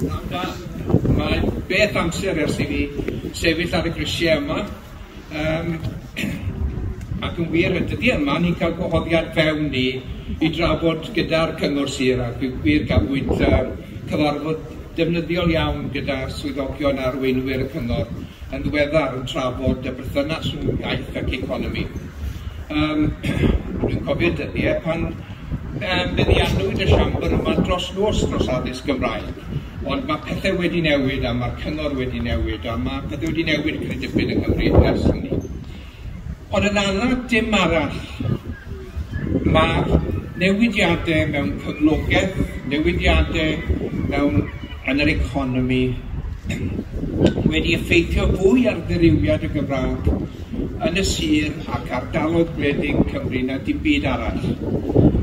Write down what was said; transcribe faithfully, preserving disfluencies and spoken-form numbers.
Pnawn da. Mae beth amser ers i fi sefyll ar y grisiau yma. Um, ac yn wir, y dyddiau yma, ni'n cael gwahoddiad fewn ni i drafod gyda'r Cyngor Sir, ac yn wir gafwyd uh, cyfarfod defnyddiol iawn gyda swyddogion a arweinwyr y Cyngor yn ddiweddar yn trafod y berthynas rhwng iaith ac economi. Um, dwi'n cofio dyddiau pan um, feddiannwyd y siambr yma dros nos dros addysg Gymraeg. Ond mae pethau wedi newid a mae'r cyngor wedi newid a mae pethau wedi newid cryn dipyn yng Nghymru ers hynny. Ond yn anad dim arall, mae newidiadau mewn cyflogaeth, newidiadau mewn yn yr economi wedi effeithio fwy ar ddirywiad y Gymraeg yn y sir ac ardaloedd gwledig Cymru na dim byd arall.